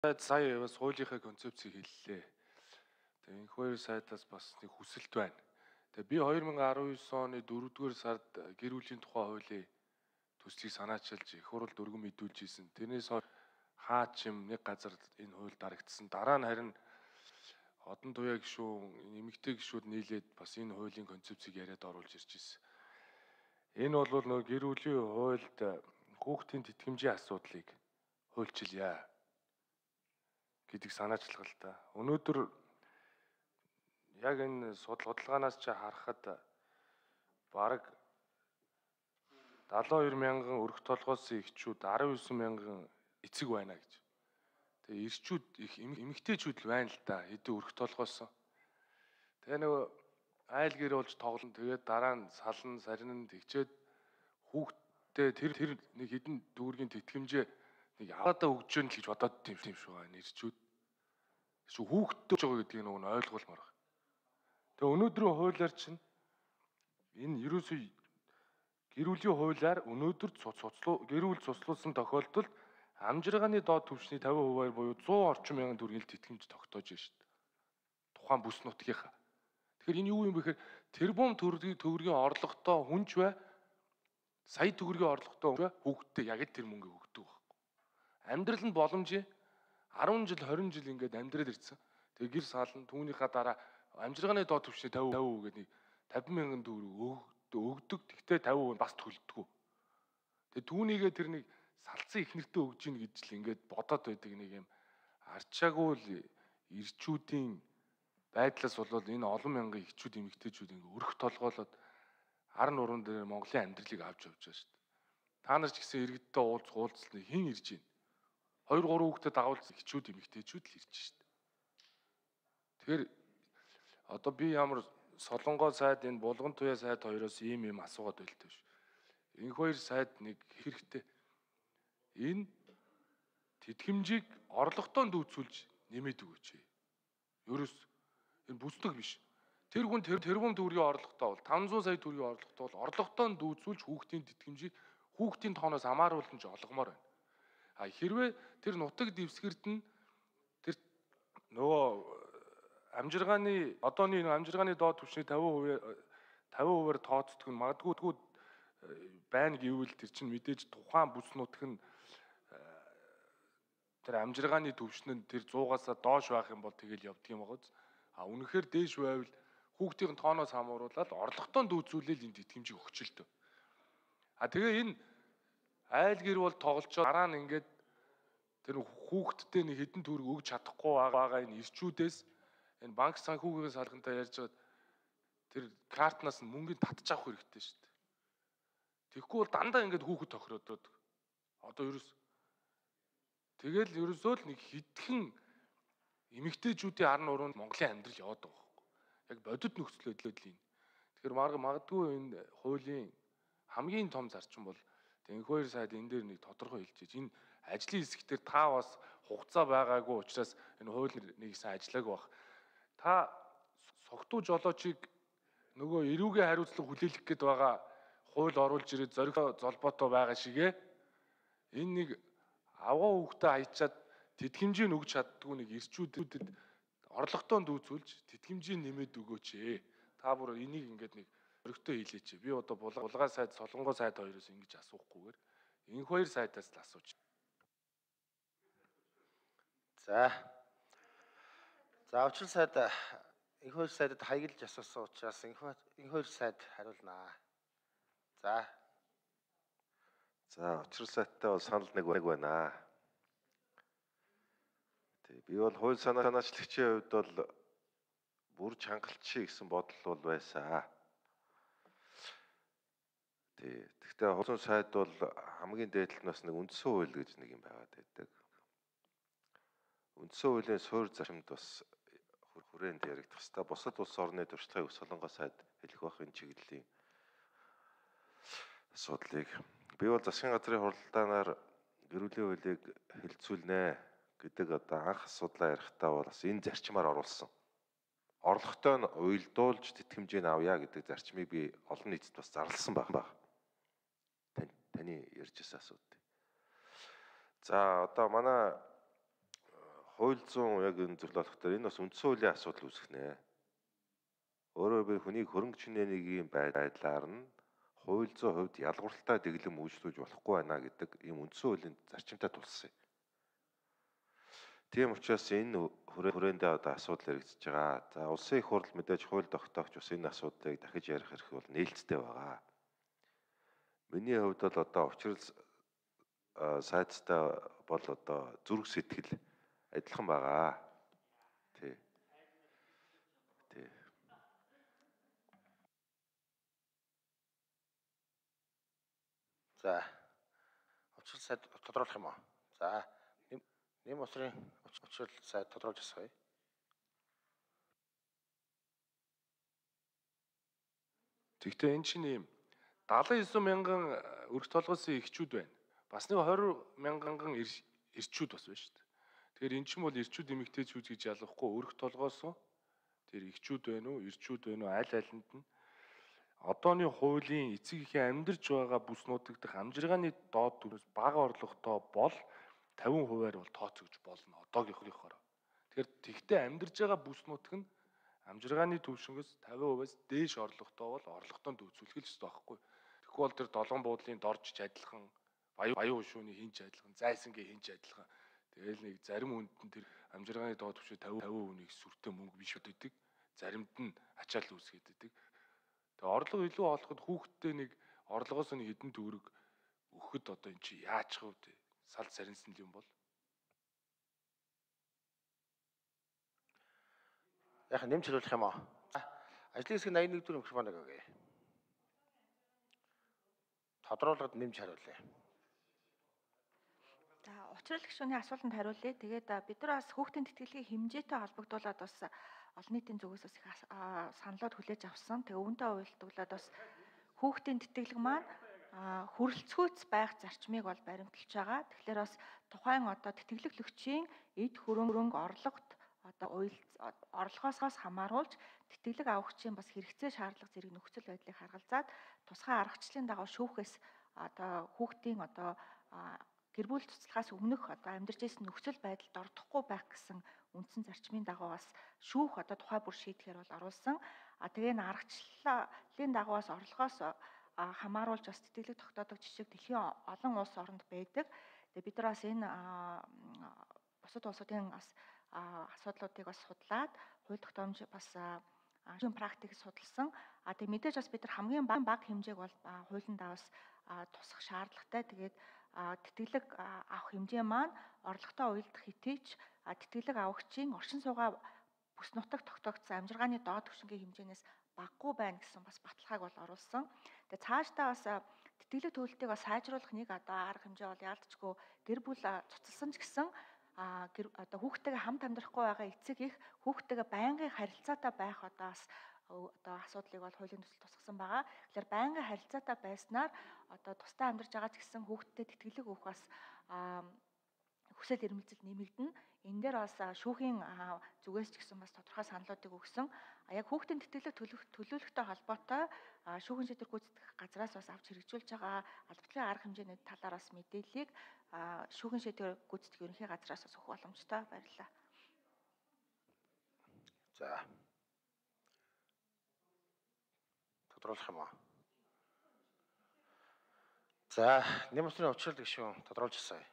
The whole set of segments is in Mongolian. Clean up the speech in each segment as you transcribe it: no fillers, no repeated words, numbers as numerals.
Сая бас хуулийнхаа концепцийг хэллээ. Тэгээ энэ хоёр сайтаас бас нэг хүсэлт байна. Тэгээ би 2019 оны 4-р сард гэр бүлийн тухай хуулийн төслийг санаачилж их хурл дөргөн мэдүүлж ийсэн. Тэрнээс хойш хаач юм нэг газар энэ хууль дарагдсан. Дараа нь харин одон туяа гишүүн, эмэгтэй гишүүд нийлээд бас энэ хуулийн концепцийг яриад оруулж ирж ирсэн. Энэ бол нөгөө гэр бүлийн хуульд хүүхдийн тэтгэмжийн асуудлыг хуульчилъя гэдэг санаачлага л да. Өнөөдөр яг энэ судалгаанаас ч харахад бараг 72 мянган өрх толгойсон эхчүүд 19 мянган эцэг байна гэж. Тэгээ эрчүүд их эмэгтэйчүүд л байна л да. Хэдэн өрх толгойсон. Тэгээ нөгөө айл гэр болж тоглоно. Тэгээд дараа нь сална, сарнин тэгчээд хүүхдээ тэр нэг хэдэн төгрөгийн тэтгэмжээ нэг аваадаа өгч жön л гэж бодоод тийм шүү байна эрчүүд. Шүү хүүхдтэй ч байгаа гэдгийг нөгөө нь ойлгуулмаар байна. Тэгээ өнөөдрийн хуулиар чинь энэ ерөөсөө гэр бүлийн хуулиар өнөөдөр гэр бүл цуцлуулсан тохиолдолд амжиргааны доод түвшний 50%-аар буюу 100 орчим мянган төгрөгийн тэтгэмж тогтоож байна шүү дээ. Тухайн бүс нутгийнхаа. Тэгэхээр энэ юу юм бэ гэхээр тэрбум төгрөгийн орлоготой хүнч бай, сая төгрөгийн орлоготой хүн бай, хүүхдтэй яг л тэр мөнгө өгдөг байхгүй. Амьдрал нь боломжийн 10 жил 20 жил ингээд амьдрал ирсэн. Тэгээ гэр саална түүнийхээ дараа амжиргааны доод түвшний 50% гэдэг нэг 50 мянган төгрөг өгдөг. Тэгтээ 50% нь бас төлдөг. Тэгээ түүнийгээ тэр нэг салцсан их нэртээ өгж ийн гэж л ингээд бодоод байдаг нэг юм арчаагүй л ирчүүдийн байдлаас болоод энэ олон мянган эхчүүд эмэгтэйчүүд ингээд өрх толгоолоод ар нуруунд дээр Монголын амьдралыг авч явж байгаа шүү дээ. Та нар ч гэсэн иргэдтэй уулзсан хэн ирж байна? 2 3 хүүхдэд дагуулсан эхчүүд эмэгтэйчүүд л ирж шүү дээ. Тэгэхээр одоо би ямар Солонгоо сайд энэ Булган туяа сайд хоёроос ийм асуугаад байлтай шүү. Энэ хоёр сайд нэг хэрэгтэй. Энэ тэтгэмжийг орлоготой дүүцүүлж нэмээд өгөөч. Ерөөс энэ бүсдэг биш. Тэр хүн тэрбум төгрөгийн орлоготой бол 500 сая төгрөгийн орлоготой бол орлоготой дүүцүүлж хүүхдийн тэтгэмжийг хүүхдийн тооноос хамааруулж олгомоор байна. А хэрвээ тэр нутаг дэвсгэрт нь тэр нөгөө амжиргааны одооний амжиргааны доод түвшний 50%-аар тооцдог нь магадгүй байна гэвэл тэр чинь мэдээж тухайн бүс нутг нь тэр амжиргааны түвшин нь тэр 100-аас доош байх юм бол тэгэл явдаг юм байгаа. А үнэхээр дээш байвал хүүхдийн тооноос хамааруулаад орлоготой дүүцүүлэл энэ тэтгэмжийг өгчлөлтөө. А тэгээ энэ айл гэр бол тоглолцоо дараа нь ингээд тэр хүүхдтэй нэг хэдэн төгрөг өгч чадахгүй байгаа энэ ирчүүдээс энэ банк санхүүгийн салхантай ярьж байгаа тэр картнаас нь мөнгөний татж авах хэрэгтэй шүү дээ. Тэгэхгүй бол дандаа ингээд хүүхэд тохироод одоо тэгэл ерөөсөө л нэг хитгэн эмэгтэйчүүдийн ар нуруунд Монголын амьдрал яваад байгаа байхгүй. Яг бодит нөхцөл байдлыг л юм. Тэгэхээр магадгүй энэ хуулийн хамгийн том зарчим бол энэ хоёр сайд энэ дээр нэг тодорхой хэлж байна. Энэ ажлын хэсэг дээр та бас хугацаа байгаагүй учраас энэ хууль нэг сайн ажиллаагүй баг. Та согтуу жолоочийг нөгөө эрүүгийн хариуцлага хүлээлгэх гээд байгаа хууль оруулж ирээд зориг золбоотой байгаа шигэ энэ нэг авгаа хүүхдээ хаячаад тэтгэмжийг өгч чаддгүй нэг ирчүүдэд орлоготой дүүцүүлж тэтгэмжийг нэмээд өгөөч. Та бүр энийг ингээд нэг өргөтэй хийлээч. Би одоо Булган сайд, Солонгоо сайд хоёроос ингэж асуухгүйгээр энэ хоёр сайдаас л асууж. За учир сайд энэ хоёр сайдад хаягдж асуусан учраас энэ хоёр сайд хариулнаа. За учир сайттай бол санал нэг байна. Би бол хууль санаачлагчийн хувьд бол бүр чангалчий гэсэн бодол бол байсан. Гэхдээ хуулийн сайд бол хамгийн дээдлэнээс нэг үндсэн хууль гэж нэг юм байгаад байдаг. Үндсэн хуулийн суурь зарчимд бас хүрээнд яригдах хэвээр бусад улс орны туршлагыг Солонгоо сайд хэлэх байх энэ чиглэлийн асуудлыг би бол засгийн газрын хуралдаанаар гэр бүлийн хуулийг хэлэлцүүлнэ гэдэг одоо анх асуудлаа ярихдаа бол бас энэ зарчмаар оруулсан. Орлоготой нь уйлдуулж тэтгэмжийг авъя гэдэг зарчмыг би олон нийтэд бас зарласан баг. Таны ярьж байсан асуудал. За одоо манай хууль зүйн яг энэ зөвлөлөх дээр энэ бас үндсэн хуулийн асуудал үүсэх нэ. Өөрөөр би хүнийг хөрөнгө чинээний байдлаар нь хууль зүйн хувьд ялгуурталтай дэглэм үйлчлүүлж болохгүй байна гэдэг ийм үндсэн хуулийн зарчимтай тулсан юм. Тийм учраас энэ хүрээндээ одоо асуудал хэрэгжиж байгаа. За улсын их хурл мэдээж хууль тогтоогч бас энэ асуудлыг дахиж ярих эрх бол нээлттэй байгаа. Миний хувьд бол одоо учрал сайдтай бол одоо зүрх сэтгэл адилхан байгаа. Тий. Тий. За. Учрал сайд тодруулах юм уу? За. Нэм усрын учрал сайд тодруулж асууя. Тэгвэл энэ чинь ийм 79 мянган өрх толгойн эхчүүд байна. Бас нэг 20 мянган эрчүүд бас байна шүү дээ. Тэгэхээр эн чинь бол эрчүүд эмэгтэйчүүд гэж ялгахгүй өрх толгоос тэр эхчүүд байна уу, эрчүүд байна уу, аль алинд нь одооны хуулийн эцэг эхийн амьдарч байгаа бүс нутагт амжиргааны доод түвшинс бага орлоготой бол 50%-аар бол тооцогдож болно одоогийнхоороо. Тэгэхээр тэгтээ амьдарч байгаа бүс нутаг нь амжиргааны түвшингээс 50%-аас дээш орлоготой бол орлоготоо дүүцүүлэх л ёстой байхгүй. Тэгэхгүй бол тэр долоон буудлын дорж адилхан, баян хушууны хинч адилхан, зайсангийн хинч адилхан. Тэгэл нэг зарим хүнд нь тэр амжиргааны доод түвшин 50% сүртэй мөнгө биш өгдөг. Заримд нь ачаал үүсгээд өгдөг. Тэгээ орлого илүү олоход хүүхдтэй нэг орлогоос нь хэдэн төгрөг өгөхөд одоо эн чи яачих вэ? Салд сарнсан юм бол. Яг нэмж хариулах юм аа. Ажлын хэсэг 81 дэх микрофоныг өгье. Тодруулгад нэмж хариулъя. За учрал гишүүний асуултанд хариулъя. Тэгээд бид нар бас хүүхдийн тэтгэлгийн хэмжээтэй холбогдуулаад бас олон нийтийн зүгээс бас их саналууд хүлээж авсан. Тэгээ үүнтэй уялдуулаад бас хүүхдийн тэтгэлэг маань хүрэлцгүйц байх зарчмыг бол баримталж байгаа. Тэгэхээр бас тухайн одоо тэтгэлэглөгчийн эд хөрөнгө орлогот одоо орлогоос хамааруулж тэтгэлэг авахчийн бас хэрэгцээ шаардлага зэрэг нөхцөл байдлыг харгалзаад тусгай аргачлалын дагуу шүүхээс одоо хүүхдийн одоо гэр бүл цуцлахаас өмнөх одоо амьдарч ирсэн нөхцөл байдалд ордохгүй байх гэсэн үндсэн зарчмын дагуу бас шүүх одоо тухай бүр шийдэхээр бол оруулсан. Тэгээ энэ аргачлалын дагуу бас орлогоос хамааруулж бас тэтгэлэг тогтоодог жишээ дэлхийн олон улс оронд байдаг. Тэгээ бид нар бас энэ бусад улсуудын бас асуудлуудыг бас судлаад хууль тогтоомж бас практик судалсан. Тэгээ мэдээж бас бид нар хамгийн бага хэмжээг бол хуулиндаа бас тусах шаардлагатай. Тэгээд тэтгэлэг авах хэмжээ маань орлоготой уялдах хэтээч тэтгэлэг авахчийн оршин суугаа бүс нутагт тогтоогдсон амжиргааны доод түвшингийн хэмжээнээс багагүй байна гэсэн бас баталгааг бол оруулсан. Тэгээ цаашдаа бас тэтгэлэг төлөлтийг бас сайжруулах нэг одоо арга хэмжээ бол яалтчгүй гэр бүл цуцалсан ч гэсэн одоо хүүхдтэйгээ хамт амьдрахгүй байгаа эцэг их хүүхдтэйгээ байнгын харилцаатай байх одоо асуудлыг бол хуулийн төсөл тусгасан байгаа. Тэгэхээр байнгын харилцаатай байснаар одоо тусдаа амьдарч байгаа ч гэсэн хүүхдтэй тэтгэлэг өгөх бас хүсэл эрмэлзэл нэмэгдэнэ. Энэ дээр бас шүүхийн зүгээс ч гэсэн бас тодорхой саналуудыг өгсөн. Яг хүүхдийн тэтгэлэг төлөвлөлттэй холбоотой шүүхийн шийдвэр гүйцэтгэх газраас бас авч хэрэгжүүлж байгаа албатлын арга хэмжээний талаар бас мэдээллийг шүүхийн шийдвэр гүйцэтгэх ерөнхий газраас бас өгөх боломжтой. Баярлалаа. За. Тодруулах юм аа. За, нэм усрын учрал гишүүн тодруулж асууя.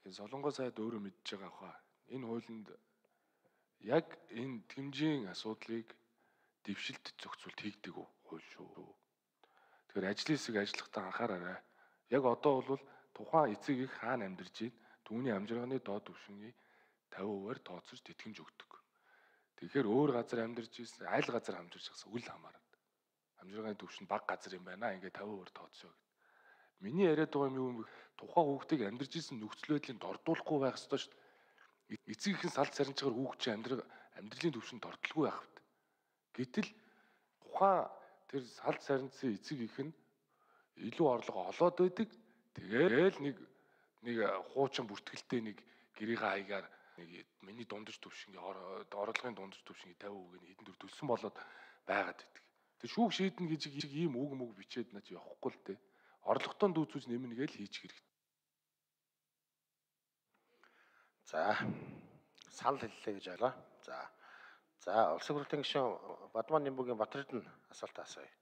Тэгээ Солонгос сайд өөрөө мэдж байгаа хаа. Энэ хуулинд яг энэ тэмжийн асуудлыг дэвшилт зохицуулт хийгдэг хууль шүү. Тэгэхээр ажлын хэсэг ажиллахдаа анхаараарай. Яг одоо бол тухайн эцэг их хаана амьдарч байна? Түүний амжиргааны доод түвшингийн 50%-аар тооцож тэтгэмж өгдөг. Тэгэхээр өөр газар амьдарч ирсэн, аль газар амьдарч байгаа үл хамааран. Амжиргааны түвшин бага газар юм байна. Ингээд 50%-аар тооцоо гэдэг. Миний яриад байгаа юм тухайн хүүхдийг амьдарч ирсэн нөхцөл байдлыг дордуулахгүй байх ёстой шүү дээ. Эцэг ихэн салд сарничгаар хүүхд чинь амьдралын түвшинд дордолгүй байх хэрэгтэй. Гэтэл тухайн тэр салд сарницын эцэг их нь илүү орлого олоод байдаг. Тэгээл нэг хуучин бүртгэлтэй нэг гэрийн хаягаар нэг миний дундаж түвшингийн орлогын дундаж түвшингийн 50% нь хэдэн төр төлсөн болоод байгаад байдаг. Тэр шүүх шийднэ гэж ийм үг бичээд наач явахгүй л дээ. Орлоготоо дүүцүүлж нэмнэ гэж хийчих хэрэгтэй. За санал хэллээ гэж ойлоо. За улсын хурлын гишүүн Бадман Нимбүгийн Батэрдэн асуулт асууя.